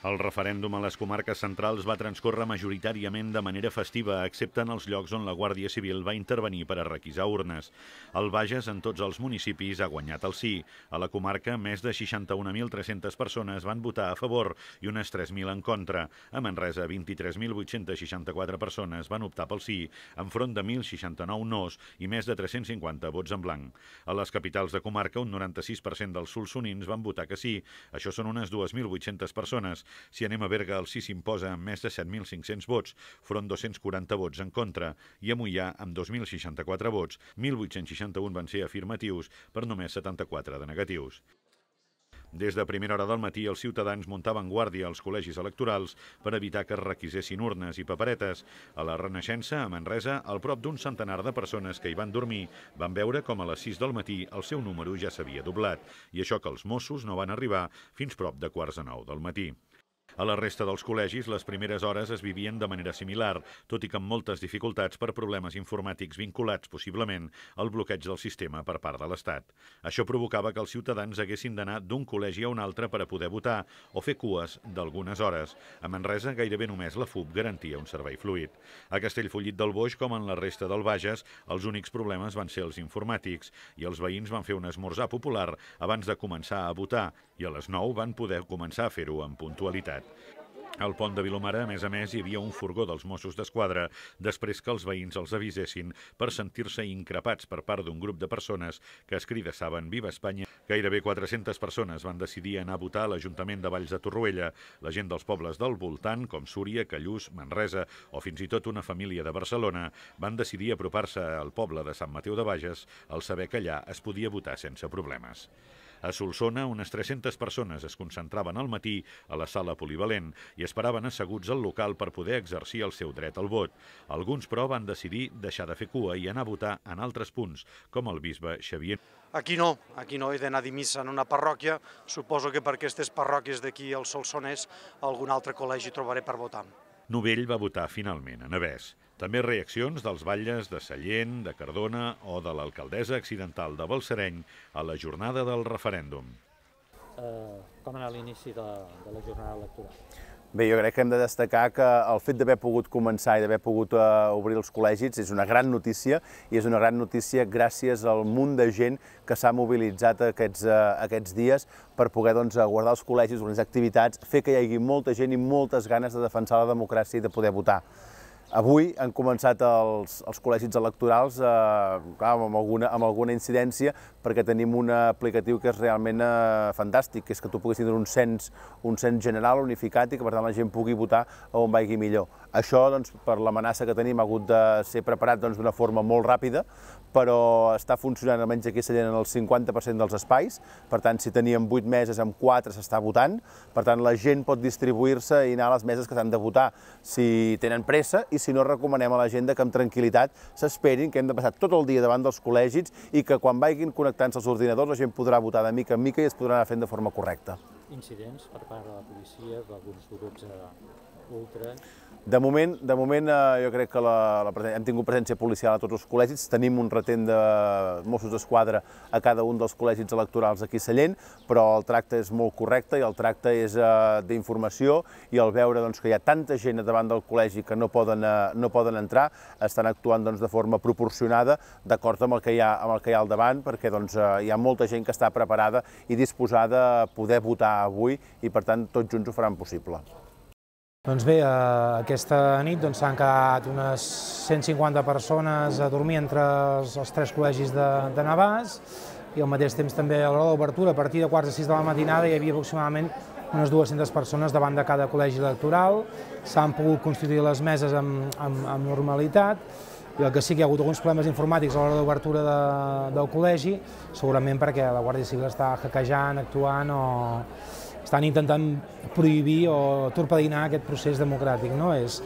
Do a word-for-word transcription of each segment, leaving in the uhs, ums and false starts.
El referèndum a les comarques centrals va transcórrer majoritàriament de manera festiva, excepte en els llocs on la Guàrdia Civil va intervenir per a requisar urnes. El Bages, en tots els municipis, ha guanyat el sí. A la comarca, més de seixanta-un mil tres-centes persones van votar a favor i unes tres mil en contra. A Manresa, vint-i-tres mil vuit-cents seixanta-quatre persones van optar pel sí, enfront de mil seixanta-nou nos i més de tres-cents cinquanta vots en blanc. A les capitals de comarca, un noranta-sis per cent dels solsonins van votar que sí. Això són unes dues mil vuit-centes persones. Si anem a Berga, el sí s'imposa amb més de set mil cinc-cents vots, front dos-cents quaranta vots en contra, i a Moià, amb dos mil seixanta-quatre vots, mil vuit-cents seixanta-un van ser afirmatius per només setanta-quatre de negatius. Des de primera hora del matí, els ciutadans muntaven guàrdia als col·legis electorals per evitar que es requisessin urnes i paperetes. A la Renaixença, a Manresa, al prop d'un centenar de persones que hi van dormir van veure com a les sis del matí el seu número ja s'havia doblat, i això que els Mossos no van arribar fins prop de quarts de nou del matí. A la resta dels col·legis, les primeres hores es vivien de manera similar, tot i que amb moltes dificultats per problemes informàtics vinculats, possiblement, al bloqueig del sistema per part de l'Estat. Això provocava que els ciutadans haguessin d'anar d'un col·legi a un altre per a poder votar o fer cues d'algunes hores. A Manresa, gairebé només la F U B garantia un servei fluid. A Castellfollit del Boix, com en la resta del Bages, els únics problemes van ser els informàtics i els veïns van fer un esmorzar popular abans de començar a votar i a les nou van poder començar a fer-ho amb puntualitat. Al pont de Vilomara, a més a més, hi havia un furgó dels Mossos d'Esquadra després que els veïns els avisessin per sentir-se increpats per part d'un grup de persones que es cridassaven Viva Espanya. Gairebé quatre-centes persones van decidir anar a votar a l'Ajuntament de Valls de Torroella. La gent dels pobles del voltant, com Súria, Callús, Manresa o fins i tot una família de Barcelona, van decidir apropar-se al poble de Sant Mateu de Bages al saber que allà es podia votar sense problemes. A Solsona, unes tres-centes persones es concentraven al matí a la sala polivalent i esperaven asseguts al local per poder exercir el seu dret al vot. Alguns, però, van decidir deixar de fer cua i anar a votar en altres punts, com el bisbe Xavier. Aquí no, aquí no he d'anar a dir missa en una parròquia. Suposo que per aquestes parròquies d'aquí al Solsonès algun altre col·legi trobaré per votar. Novell va votar finalment a Navès. També reaccions dels batlles de Sallent, de Cardona o de l'alcaldessa accidental de Balsareny a la jornada del referèndum. Eh, com ha anat l'inici de, de la jornada electoral? Bé, jo crec que hem de destacar que el fet d'haver pogut començar i d'haver pogut uh, obrir els col·legis és una gran notícia, i és una gran notícia gràcies al munt de gent que s'ha mobilitzat aquests, uh, aquests dies per poder doncs, guardar els col·legis, organitzar activitats, fer que hi hagi molta gent i moltes ganes de defensar la democràcia i de poder votar. Avui han començat els, els col·legis electorals eh, clar, amb, alguna, amb alguna incidència, perquè tenim un aplicatiu que és realment eh, fantàstic, que és que tu puguis tenir un cens, un cens general unificat i que per tant la gent pugui votar on vagi millor. Això, doncs, per l'amenaça que tenim, ha hagut de ser preparat d'una doncs, forma molt ràpida, però està funcionant almenys aquí a Sallent en el cinquanta per cent dels espais. Per tant, si teníem vuit meses, amb quatre s'està votant. Per tant, la gent pot distribuir-se i anar a les meses que s'han de votar si tenen pressa, i si no, recomanem a la gent que amb tranquil·litat s'esperin, que hem de passar tot el dia davant dels col·legis i que quan vagin connectant-se als ordinadors la gent podrà votar de mica en mica i es podrà anar fent de forma correcta. Incidents per part de la policia, d'alguns grups ultres? De moment, de moment jo crec que la, la, hem tingut presència policial a tots els col·legis, tenim un retent de Mossos d'Esquadra a cada un dels col·legis electorals aquí a Sallent, però el tracte és molt correcte i el tracte és uh, d'informació, i al veure doncs, que hi ha tanta gent davant del col·legi que no poden, uh, no poden entrar, estan actuant doncs, de forma proporcionada, d'acord amb el que hi ha, amb el que hi ha al davant, perquè doncs, uh, hi ha molta gent que està preparada i disposada a poder votar avui, i per tant tots junts ho faran possible. Doncs bé, aquesta nit s'han quedat unes cent cinquanta persones a dormir entre els, els tres col·legis de, de Navàs, i al mateix temps també a l'hora d'obertura, a partir de quarts de sis de la matinada, hi havia aproximadament unes dues-centes persones davant de cada col·legi electoral. S'han pogut constituir les meses amb, amb, amb normalitat, i el que sí que hi ha hagut alguns problemes informàtics a l'hora d'obertura de, del col·legi, segurament perquè la Guàrdia Civil està hackejant, actuant o estan intentant prohibir o torpedinar aquest procés democràtic. No? És,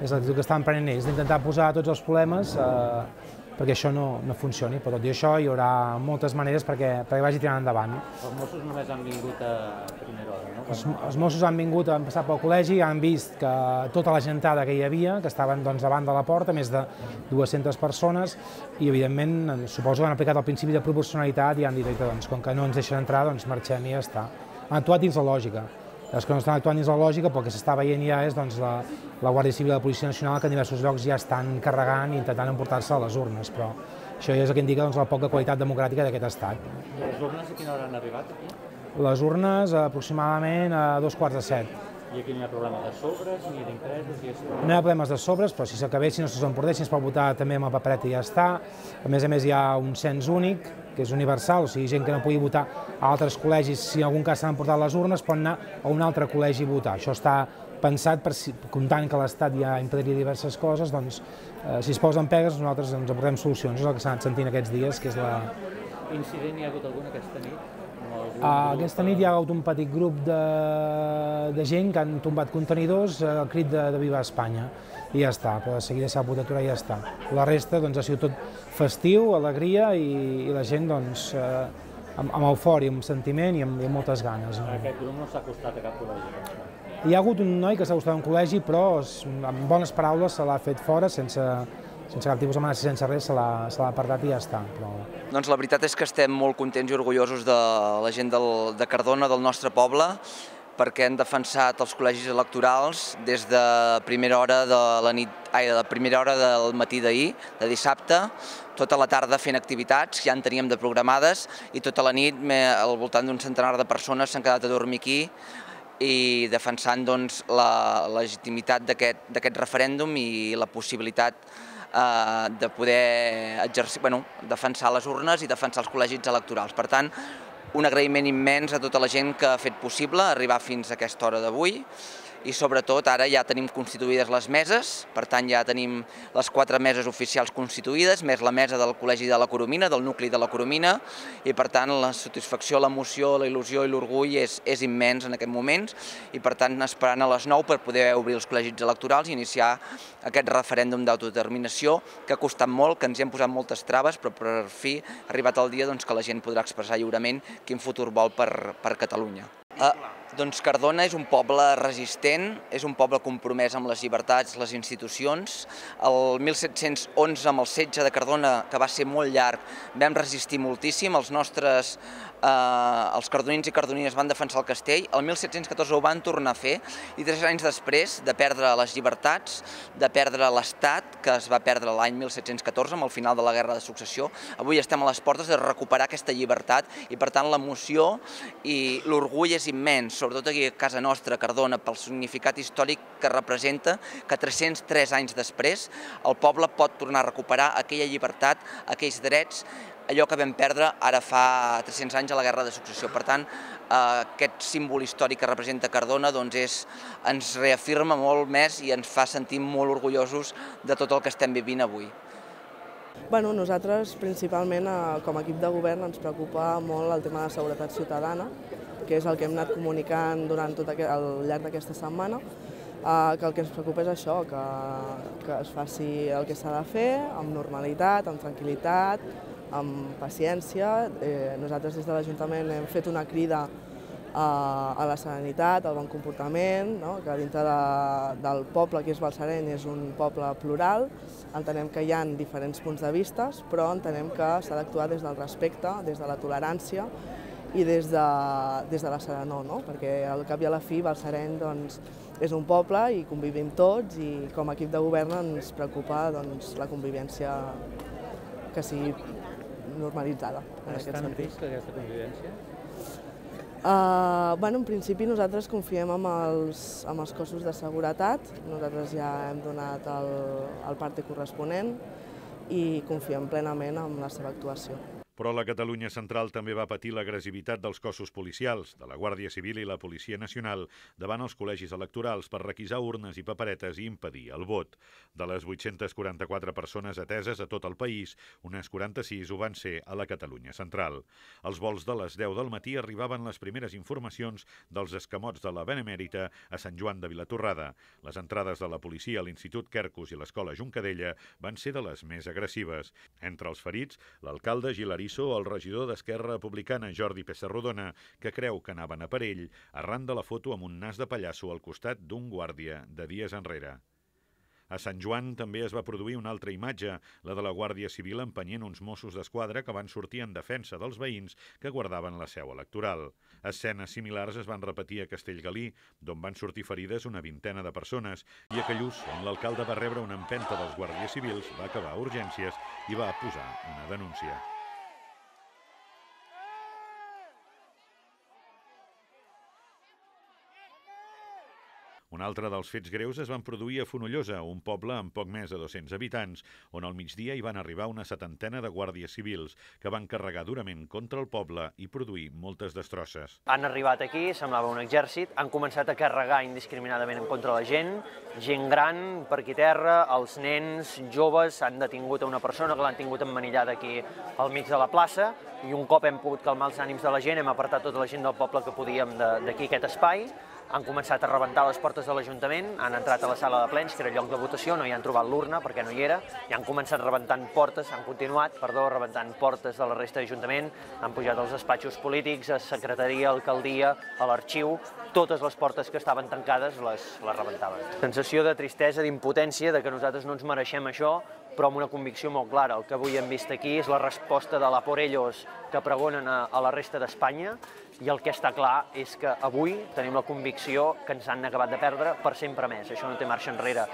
és l'actitud que estan prenent ells, d'intentar posar tots els problemes eh, perquè això no, no funcioni. Però tot i això hi haurà moltes maneres perquè, perquè vagi tirant endavant. Els Mossos només han vingut a primera hora, no? Els, els Mossos han vingut, han passat pel col·legi, han vist que tota la gentada que hi havia, que estaven doncs, davant de la porta, més de dues-centes persones, i evidentment suposo que han aplicat el principi de proporcionalitat i han dit doncs, com que no ens deixen entrar, doncs marxem i ja està. Han actuat dins la lògica. Els que no estan actuant dins la lògica, però el que s'està veient ja és doncs, la, la Guàrdia Civil i la Policia Nacional, que en diversos llocs ja estan carregant i intentant emportar-se a les urnes, però això ja és el que indica doncs, la poca qualitat democràtica d'aquest estat. I les urnes a quina hora han arribat aquí? Les urnes aproximadament a dos quarts de set. I aquí no hi ha problema de sobres, ni d'impresos, i això? No hi ha problemes de sobres, però si s'acabessin, no s'emportessin, es pot votar també amb la papereta i ja està. A més a més, hi ha un cens únic, que és universal, o sigui, gent que no pugui votar a altres col·legis, si en algun cas s'han portat les urnes, pot anar a un altre col·legi a votar. Això està pensat, per si, comptant que l'Estat ja impediria diverses coses, doncs, eh, si es posen pegues, nosaltres ens aportem solucions. És el que s'ha anat sentint aquests dies, que és la... Incident hi ha hagut algun aquesta nit? Uh, aquesta nit hi ha hagut un petit grup de, de gent que han tombat contenidors al crit de, de Viva Espanya i ja està, però de seguida s'ha pogut aturar i ja està. La resta doncs, ha sigut tot festiu, alegria i, i la gent doncs, uh, amb, amb eufòria, amb sentiment i amb, i amb moltes ganes. No? Aquest grup no s'ha acostat a cap col·legi? Hi ha hagut un noi que s'ha acostat a un col·legi, però amb bones paraules se l'ha fet fora, sense, sense cap tipus d'amenaça, sense res, se l'ha apartat i ja està. Però... Doncs la veritat és que estem molt contents i orgullosos de la gent del, de Cardona, del nostre poble, perquè han defensat els col·legis electorals des de primera hora de la nit, ai, de primera hora del matí d'ahir, de dissabte, tota la tarda fent activitats, ja en teníem de programades, i tota la nit al voltant d'un centenar de persones s'han quedat a dormir aquí i defensant doncs, la legitimitat d'aquest referèndum i la possibilitat eh, de poder exercir, bueno, defensar les urnes i defensar els col·legis electorals. Per tant, un agraïment immens a tota la gent que ha fet possible arribar fins a aquesta hora d'avui i sobretot ara ja tenim constituïdes les meses, per tant ja tenim les quatre meses oficials constituïdes, més la mesa del Col·legi de la Coromina, del nucli de la Coromina, i per tant la satisfacció, l'emoció, la il·lusió i l'orgull és, és immens en aquests moments i per tant esperant a les nou per poder obrir els col·legis electorals i iniciar aquest referèndum d'autodeterminació que ha costat molt, que ens hi hem posat moltes traves, però per fi ha arribat el dia doncs, que la gent podrà expressar lliurement quin futur vol per, per Catalunya. Uh, doncs Cardona és un poble resistent, és un poble compromès amb les llibertats, les institucions. El mil set-cents onze, amb el setge de Cardona, que va ser molt llarg, vam resistir moltíssim, els nostres, eh, els cardonins i cardonines van defensar el castell, el mil set-cents catorze ho van tornar a fer i tres anys després de perdre les llibertats, de perdre l'Estat, que es va perdre l'any mil set-cents catorze amb el final de la Guerra de Successió, avui estem a les portes de recuperar aquesta llibertat i per tant l'emoció i l'orgull és immens, sobretot aquí a casa nostra, a Cardona, pel significat històric que representa que tres-cents tres anys després el poble pot tornar a recuperar aquella llibertat, aquells drets, allò que vam perdre ara fa tres-cents anys a la Guerra de Successió. Per tant, aquest símbol històric que representa Cardona doncs és, ens reafirma molt més i ens fa sentir molt orgullosos de tot el que estem vivint avui. Bueno, nosaltres, principalment, com a equip de govern, ens preocupa molt el tema de seguretat ciutadana, que és el que hem anat comunicant durant tot aquest, al llarg d'aquesta setmana, que el que ens preocupa és això, que, que es faci el que s'ha de fer, amb normalitat, amb tranquil·litat, amb paciència. Eh, nosaltres des de l'Ajuntament hem fet una crida a, a la serenitat, al bon comportament, no? Que dintre de, del poble que és Balsareny és un poble plural, entenem que hi ha diferents punts de vista, però entenem que s'ha d'actuar des del respecte, des de la tolerància i des de, des de la serenor, no? Perquè al cap i a la fi Balsareny doncs, és un poble i convivim tots i com a equip de govern ens preocupa doncs, la convivència que sigui normalitzada. En Està en risc aquesta convivència? Uh, bueno, en principi nosaltres confiem en els, en els cossos de seguretat, nosaltres ja hem donat el, el parte corresponent i confiem plenament en la seva actuació. Però la Catalunya central també va patir l'agressivitat dels cossos policials, de la Guàrdia Civil i la Policia Nacional, davant els col·legis electorals per requisar urnes i paperetes i impedir el vot. De les vuit-centes quaranta-quatre persones ateses a tot el país, unes quaranta-sis ho van ser a la Catalunya central. Als vols de les deu del matí arribaven les primeres informacions dels escamots de la Benemèrita a Sant Joan de Vilatorrada. Les entrades de la policia a l'Institut Quercus i l'Escola Juncadella van ser de les més agressives. Entre els ferits, l'alcalde Gilari el regidor d'Esquerra Republicana, Jordi Pessarrodona, que creu que anaven a per ell arran de la foto amb un nas de pallasso al costat d'un guàrdia de dies enrere. A Sant Joan també es va produir una altra imatge, la de la Guàrdia Civil empenyent uns Mossos d'Esquadra que van sortir en defensa dels veïns que guardaven la seu electoral. Escenes similars es van repetir a Castellgalí, d'on van sortir ferides una vintena de persones, i a Callús, on l'alcalde va rebre una empenta dels guàrdies civils, va acabar a urgències i va posar una denúncia. Un altre dels fets greus es van produir a Fonollosa, un poble amb poc més de dos-cents habitants, on al migdia hi van arribar una setantena de guàrdies civils que van carregar durament contra el poble i produir moltes destrosses. Han arribat aquí, semblava un exèrcit, han començat a carregar indiscriminadament en contra la gent, gent gran per aquí terra, els nens, joves, han detingut a una persona que l'han tingut emmanillada aquí al mig de la plaça, i un cop hem pogut calmar els ànims de la gent, hem apartat tota la gent del poble que podíem d'aquí aquest espai, han començat a rebentar les portes de l'Ajuntament, han entrat a la sala de plens, que era lloc de votació, no hi han trobat l'urna perquè no hi era, i han començat rebentant portes, han continuat, perdó, rebentant portes de la resta d'Ajuntament, han pujat als despatxos polítics, a secretaria, a alcaldia, a l'arxiu, totes les portes que estaven tancades les, les rebentaven. Sensació de tristesa, d'impotència, de que nosaltres no ens mereixem això, però amb una convicció molt clara. El que avui hem vist aquí és la resposta de la por ellos que pregonen a, a la resta d'Espanya, i el que està clar és que avui tenim la convicció que ens han acabat de perdre per sempre més. Això no té marxa enrere.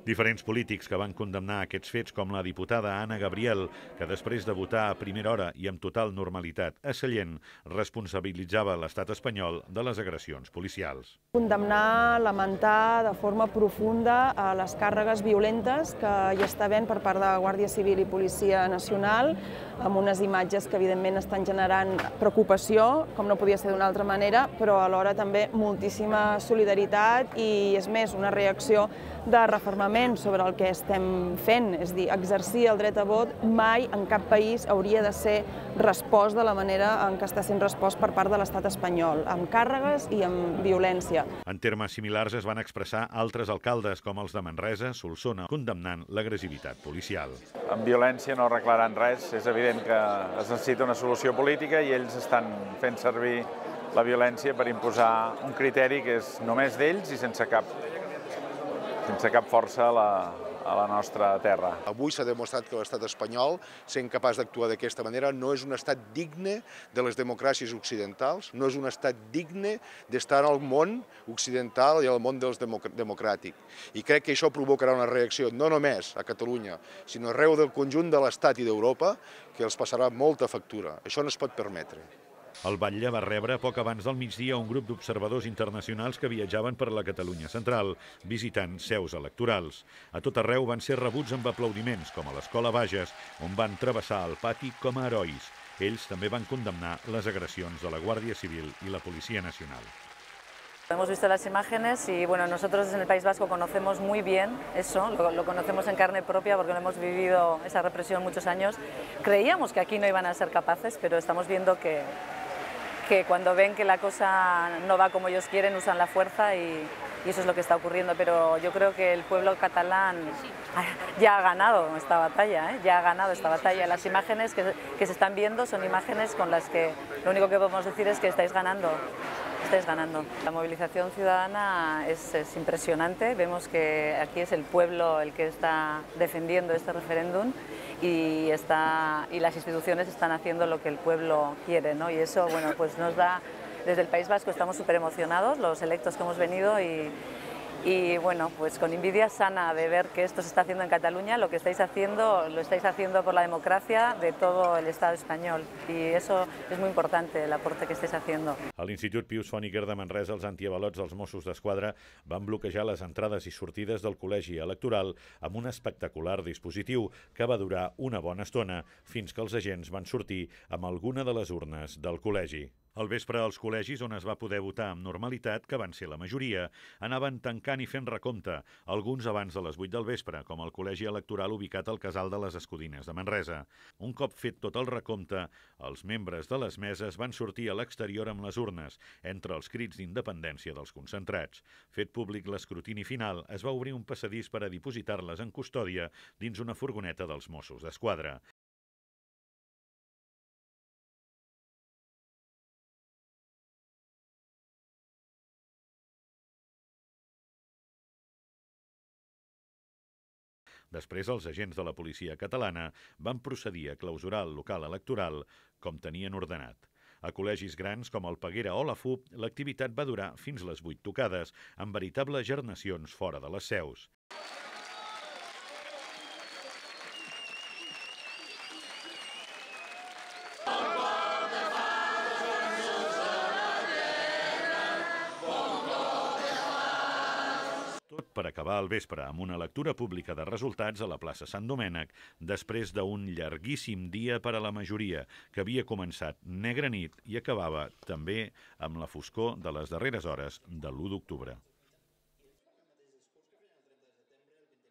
Diferents polítics que van condemnar aquests fets, com la diputada Anna Gabriel, que després de votar a primera hora i amb total normalitat a Sallent, responsabilitzava l'estat espanyol de les agressions policials. Condemnar, lamentar de forma profunda a les càrregues violentes que hi està havent per part de Guàrdia Civil i Policia Nacional, amb unes imatges que evidentment estan generant preocupació, com no podia ser d'una altra manera, però alhora també moltíssima solidaritat i, és més, una reacció de refermament sobre el que estem fent, és a dir, exercir el dret a vot mai en cap país hauria de ser respost de la manera en què està sent respost per part de l'estat espanyol, amb càrregues i amb violència. En termes similars es van expressar altres alcaldes, com els de Manresa, Solsona, condemnant l'agressivitat policial. Amb violència no arreglaran res, és evident que es necessita una solució política i ells estan fent servir la violència per imposar un criteri que és només d'ells i sense cap sense cap força a la, a la nostra terra. Avui s'ha demostrat que l'estat espanyol, sent capaç d'actuar d'aquesta manera, no és un estat digne de les democràcies occidentals, no és un estat digne d'estar al món occidental i al món dels democràtic. I crec que això provocarà una reacció no només a Catalunya, sinó arreu del conjunt de l'Estat i d'Europa, que els passarà molta factura. Això no es pot permetre. El batlle va rebre poc abans del migdia un grup d'observadors internacionals que viatjaven per la Catalunya central, visitant seus electorals. A tot arreu van ser rebuts amb aplaudiments, com a l'Escola Bages, on van travessar el pati com a herois. Ells també van condemnar les agressions de la Guàrdia Civil y la Policía Nacional. Hemos visto las imágenes y bueno, nosotros en el País Vasco conocemos muy bien eso, lo, lo conocemos en carne propia porque lo hemos vivido esa represión muchos años. Creíamos que aquí no iban a ser capaces, pero estamos viendo que, que cuando ven que la cosa no va como ellos quieren, usan la fuerza y, y eso es lo que está ocurriendo. Pero yo creo que el pueblo catalán ya ha ganado esta batalla, ¿eh? ya ha ganado esta batalla. Las imágenes que, que se están viendo son imágenes con las que lo único que podemos decir es que estáis ganando. Estáis ganando. La movilización ciudadana es, es impresionante. Vemos que aquí es el pueblo el que está defendiendo este referéndum y, está, y las instituciones están haciendo lo que el pueblo quiere, ¿no? Y eso, bueno, pues nos da, desde el País Vasco estamos súper emocionados, los electos que hemos venido y, y bueno, pues con envidia sana de ver que esto se está haciendo en Cataluña, lo que estáis haciendo, lo estáis haciendo por la democracia de todo el Estado español y eso es muy importante, el aporte que estáis haciendo. A l'Institut Pius Fòniker de Manresa, els antiavalots dels Mossos d'Esquadra van bloquejar les entrades i sortides del col·legi electoral amb un espectacular dispositiu que va durar una bona estona fins que els agents van sortir amb alguna de les urnes del col·legi. Al vespre, els col·legis on es va poder votar amb normalitat, que van ser la majoria, anaven tancant i fent recompte, alguns abans de les vuit del vespre, com el col·legi electoral ubicat al Casal de les Escudines de Manresa. Un cop fet tot el recompte, els membres de les meses van sortir a l'exterior amb les urnes, entre els crits d'independència dels concentrats. Fet públic l'escrutini final, es va obrir un passadís per a dipositar-les en custòdia dins una furgoneta dels Mossos d'Esquadra. Després, els agents de la policia catalana van procedir a clausurar el local electoral com tenien ordenat. A col·legis grans com el Peguera o la F U P, l'activitat va durar fins les vuit tocades, amb veritables gernacions fora de les seus. Tot per acabar al vespre amb una lectura pública de resultats a la plaça Sant Domènec, després d'un llarguíssim dia per a la majoria, que havia començat negra nit i acabava també amb la foscor de les darreres hores de l'u d'octubre.